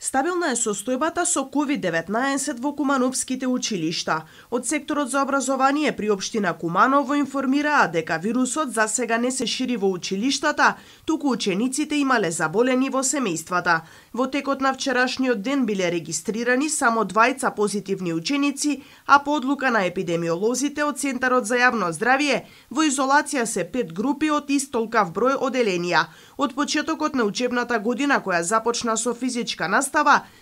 Стабилна е состојбата со COVID-19 во кумановските училишта. Од секторот за образование при општина Куманово информираа дека вирусот засега не се шири во училиштата, туку учениците имале заболени во семејствата. Во текот на вчерашниот ден биле регистрирани само 2 позитивни ученици, а по одлука на епидемиолозите од Центарот за јавно здравје, во изолација се 5 групи од истолкав број оделенија. Од почетокот на учебната година, која започна со физичка настава,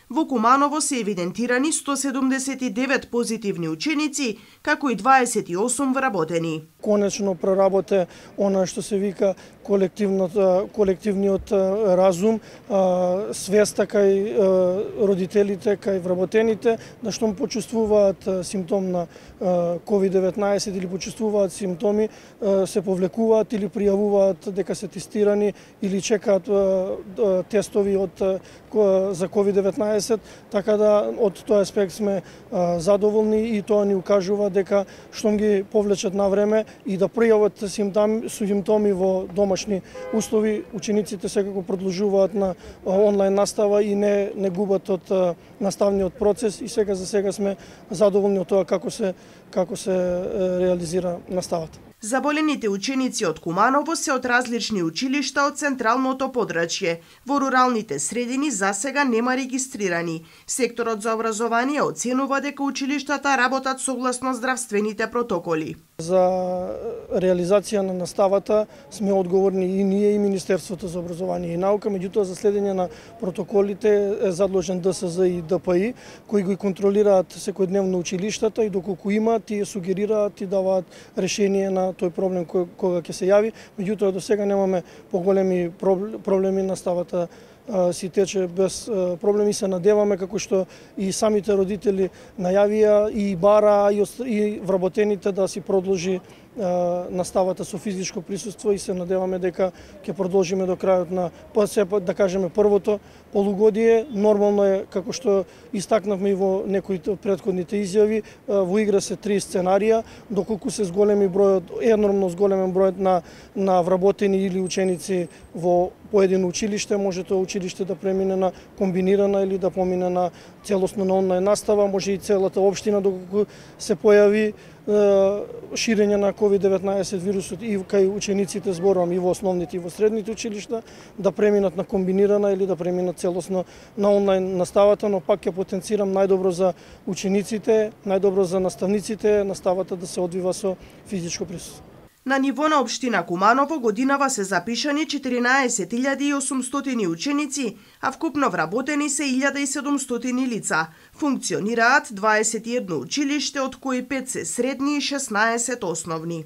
во Куманово се евидентирани 179 позитивни ученици, како и 28 вработени. Конечно проработе она што се вика колективниот разум, свеста кај родителите, кај вработените, да што почувствуваат симптом на COVID-19 или почувствуваат симптоми, се повлекуваат или пријавуваат дека се тестирани или чекаат тестови за COVID-19, така да од тој аспект сме задоволни и тоа ни укажува дека штом ги повлечат на време и да пријават симптоми во домашни услови, учениците секако продолжуваат на онлайн настава и не губат од наставниот процес, и сега за сега сме задоволни од тоа како се реализира наставата. Заболените ученици од Куманово се од различни училишта од централното подрачје. Во руралните средини засега нема регистрирани. Секторот за образование оценува дека училиштата работат согласно здравствените протоколи. За реализација на наставата сме одговорни и ние и Министерството за образование и наука, меѓутоа за следење на протоколите е задолжен ДСЗ и ДПИ, кои ги контролираат секојдневно училиштата и доколку има, тие сугерираат и даваат решение на тој проблем кога ќе се јави. Меѓутоа до сега немаме поголеми проблеми, наставата си тече без проблеми. Се надеваме, како што и самите родители најавија и бара и вработените, да си продолжи наставата со физичко присуство, и се надеваме дека ќе продолжиме до крајот на, да кажеме, првото полугодие. Нормално е, како што истакнавме и во некои од претходните изјави, во игра се 3 сценарија, доколку се зголеми бројот, енормно зголемен бројот на вработени или ученици во поедино училиште, може тоа училиште да премине на комбинирана или да помине на целосно на онлайн настава, може и целата општина, доколку се појави ширење на COVID-19 вирусот и кај учениците, зборувам и во основните и во средните училишта, да преминат на комбинирана или да преминат целосно на онлайн наставата, но пак ќе потенцирам најдобро за учениците, најдобро за наставниците, наставата да се одвива со физичко присуство. На ниво на општина Куманово годинава се запишани 14.800 ученици, а вкупно вработени се 1.700 лица. Функционираат 21 училиште, од кои 5 се средни и 16 основни.